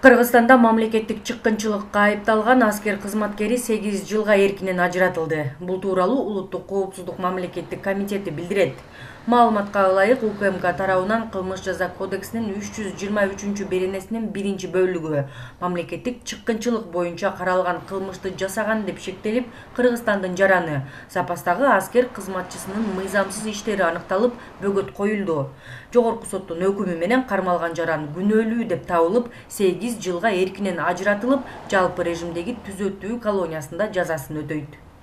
Кыргызстанда мамлекеттик чыккынчылыкка айыпталган аскер кызматкери 8 жылга эркинен ажыратылды. Бул тууралуу Улуттук коопсуздук мамлекеттик комитети билдирет. Маалыматка ылайык, УКМК тарабынан Кылмыш жаза кодексинин 323-беренесинин 1-бөлүгү мамлекеттик чыккынчылык боюнча каралган кылмышты жасаган деп шектелип, Кыргызстандын жараны запастагы аскер кызматчысынын мыйзамсыз иштери аныкталып, бөгөт коюлду. Жогорку соттун өкүмү менен кармалган жаран күнөөлүү деп табылып, 8 жылга эркинен ажыратылып, жалпы режимдеги түзөтүү колониясында жазасын өтөйт.